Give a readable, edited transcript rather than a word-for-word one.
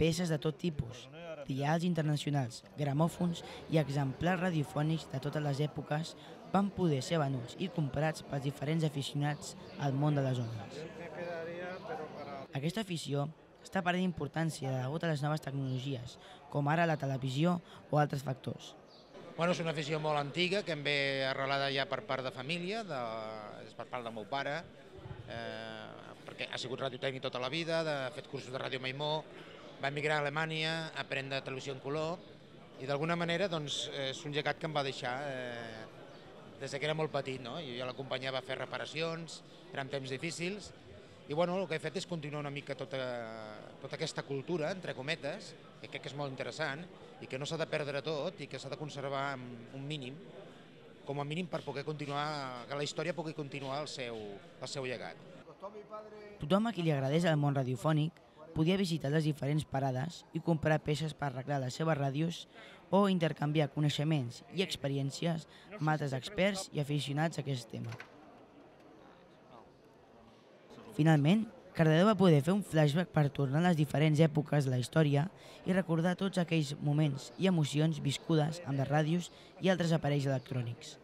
peces de tot tipus, dials internacionals, gramòfons i exemplars radiofònics de totes les èpoques van poder ser venuts i comprats pels diferents aficionats al món de les ones. Aquesta afició està perdent importància degut a les noves tecnologies, com ara la televisió o altres factors. És una afició molt antiga que em ve arrelada ja per part de família, és per part del meu pare, perquè ha sigut radiotècnic tota la vida, ha fet cursos de ràdio Maimó, va emigrar a Alemanya a aprendre televisió en color i d'alguna manera és un llegat que em va deixar des que era molt petit. Jo ja l'acompanyava a fer reparacions, eren temps difícils, i el que he fet és continuar una mica tota aquesta cultura, entre cometes, que crec que és molt interessant i que no s'ha de perdre tot i que s'ha de conservar un mínim, com a mínim per poder continuar, que la història pugui continuar el seu llegat. Tothom a qui li agradés el món radiofònic podia visitar les diferents parades i comprar peces per arreglar les seves ràdios o intercanviar coneixements i experiències amb altres experts i aficionats a aquest tema. Finalment, Cardedeu va poder fer un flashback per tornar a les diferents èpoques de la història i recordar tots aquells moments i emocions viscudes amb les ràdios i altres aparells electrònics.